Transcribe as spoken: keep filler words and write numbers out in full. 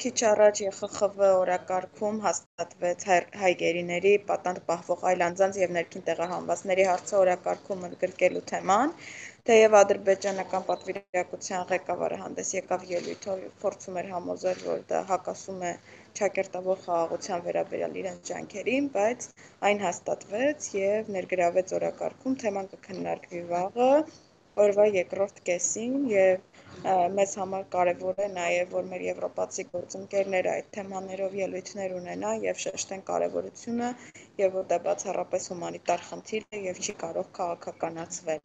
Քիչ առաջ Ե Խ Խ V օրակարգում հաստատվեց հայ-գերիների պատանդ պահվող այլ անձանց և ներքին տեղահանվածների հարցը օրակարգում ընդգրկելու թեման, թեև ադրբեջանական պատվիրակության ղեկավարը հանդես եկավ ելույթով, փորձում էր համոզել, որ դա հակասում է ճակերտավոր խաղաղության վերաբերյալ իրենց ջանքերին, բայց այն հաստատվեց և ներգրավվեց օրակարգում, թեման կքննարկվի վաղը, օրվա երկրորդ կեսին, և մեզ համար կարևոր է նաև, որ մեր եվրոպացի գործընկերները այդ թեմաներով ելույթներ ունենան և շեշտեն կարևորությունը, և որ դա բացառապես հումանիտար խնդիր է և չի կարող քաղաքականացվել։